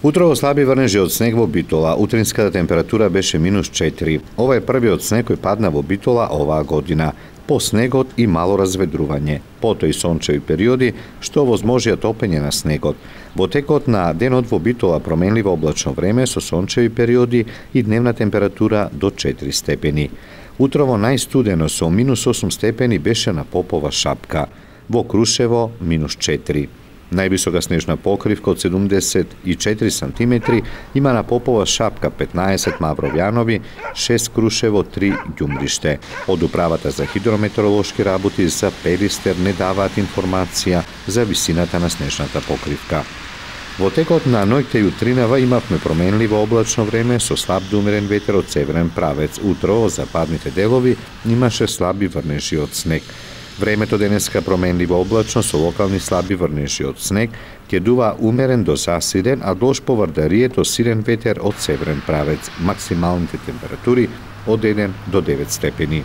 Утрово слаби врнежи од снег во Битола. Утринската температура беше -4. Ова е првиот снег кој падна во Битола оваа година. По снегот и мало разведрување, потоа и сончеви периоди што овозможија топење на снегот. Во текот на денот во Битола променливо облачно време со сончеви периоди и дневна температура до 4 степени. Утрово најстудено со -8 степени беше на Попова Шапка. Во Крушево -4. Највисока снежна покривка од 74 сантиметри има на Попова Шапка, 15 Мавровјанови, 6 Крушево, 3 Ѓумбриште. Од Управата за хидрометеоролошки работи за Пелистер не даваат информација за висината на снежната покривка. Во текот на ноќта и утринава имавме променливо облачно време со слаб до умерен ветер од северен правец. Утро во западните делови имаше слаби врнежи од снег. Времето денеска променливо облачно со локални слаби врнежи од снег, ќе дува умерен до засилен, а долж поврдарието силен ветер од северен правец. Максималните температури од 1 до 9 степени.